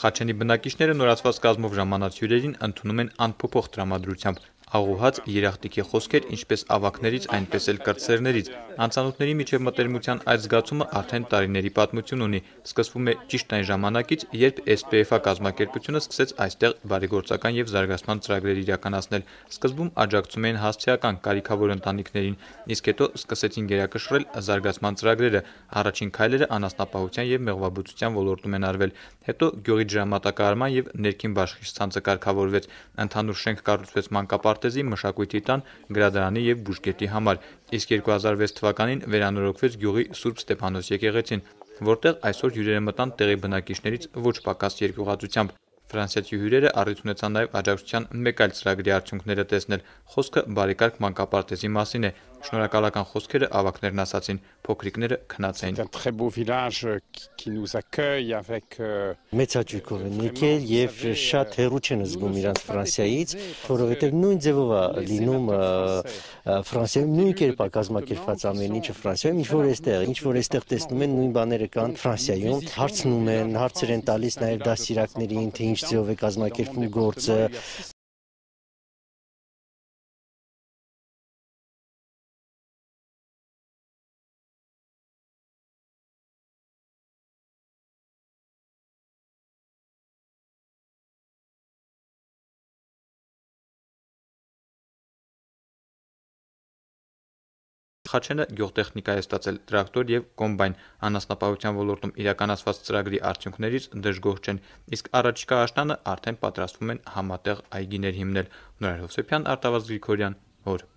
Խաչենի բնակիչները նորացված կազմով ժամանած հյուրերին ընդունում են անփոփոխ տրամադրությամբ, աղուհաց, երախտիկի խոսքեր, ինչպես ավագներից, այնպես էլ կրտսերներից։ Անծանոթների միջև մտերմության այդ զգացումը արդեն տարիների պատմություն ունի։ Սկսվում է ճիշտ այն ժամանակից, երբ SPF-ը կազմակերպությունը սկսեց այստեղ բարեգործական եւ զարգացման ծրագրեր իրականացնել։ Սկզբում աջակցում էին հասցեական կարիքավոր ընտանիքներին, իսկ հետո սկսեցին գերակշռել զարգացման ծրագրերը։ Առաջին քայլերը անասնապահության եւ մեղվաբուծության ոլորտում են արվել։ Հետո գյուղի ջրամատակարարման եւ ներքին բաշխիչցանցը կարգավորվեց։ Ընդհանուր շենք կառուցվեց մանկապարտեզի, մշակույթի տան, գրադարանի եւ բուժկետի համար, իսկ 2006 թվականին վերանորոգվեց գյուղի Սուրբ Ստեփանոս եկեղեցին, որտեղ այսօր հյուրերը մտան տեղի բնակիչներից ոչ պակաս երկյուղածությամբ։ Ֆրանսիացի հյուրերը առիթ ունեցան նաև աջակցության մեկ այլ ծրագրի արդյունքները տեսնել։ Խոսքը բարեկարգ մանկապարտեզի մասին է։ Շնորհակալական խոսքերը ավագներն ասացին, փոքրիկները քնած էին։ Մեծ հաճույքով են եկել եւ շատ հեռու չեն զգում իրանց Ֆրանսիայից, որովհետեւ նույն ձևով է լինում Ֆրանսիայում, նույն կերպ է կազմակերպված ամեն ինչը Ֆրանսիայում, ինչ որ այստեղ տեսնում են, նույն բաները կան Ֆրանսիայում, հարցնում են, հարցեր են տալիս նաեւ դասիրակներին, թե ինչ ձևով է կազմակերպվում գործը։ Խաչենը գյուղտեխնիկա է ստացել, տրակտոր եւ կոմբայն, անասնապահության ոլորտում իրականացված ծրագրի արդյունքներից դժգոհ չեն, իսկ առաջիկա աշնանը արդեն պատրաստվում են համատեղ այգիներ հիմնել։ Նորայր Հովսեփյան, Արտավազդ Գրիգորյան, օր։